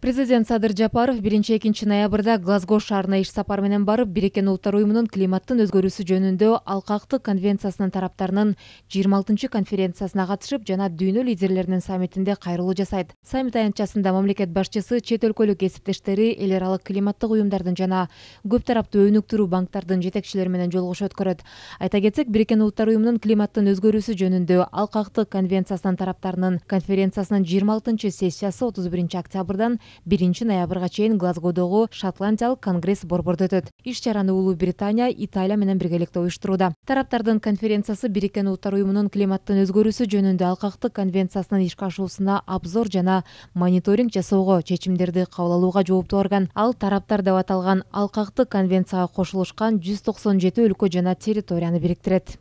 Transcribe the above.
Президент Садыр Жапаров 1-2 ноябрда Глазго шаарына иш сапары менен барып, Бириккен Улуттар уюмунун климаттын өзгөрүүсү жөнүндө алкактык конвенциясынын тараптарынын 26 конференциясына катышып жана дүйнө лидерлеринин саммитинде кайрылуу жасайт. Саммит аянтчасында мамлекет башчысы чет өлкөлүк кесиптештери, эл аралык климаттык уюмдардын жана көп тараптуу өнүктүрүү банктардын жетекчилери менен жолугушуу өткөрөт. Айта кетсек, Бириккен Улуттар уюмунун климаттын өзгөрүүсү жөнүндө алкактык конвенциясынын тараптарынын конференциясынын 26 сессиясы 31 октябрдан 1 ноябрга чейин Глазгодогу Шотландиялык конгресс борбордо өтөт. Иш чараны Улуу Британия, Италия менен биргеликте уюштурууда. Тараптардын конференциясы Бириккен Улуттар уюмунун климаттын өзгөрүүсү жөнүндө алкактык конвенциясынын ишке ашуусуна обзор жана мониторинг жасоого, чечимдерди кабыл алууга жооптуу орган. Ал тараптар деп аталган алкактык конвенцияга кошулушкан 197 өлкө жана территорияны бириктирет.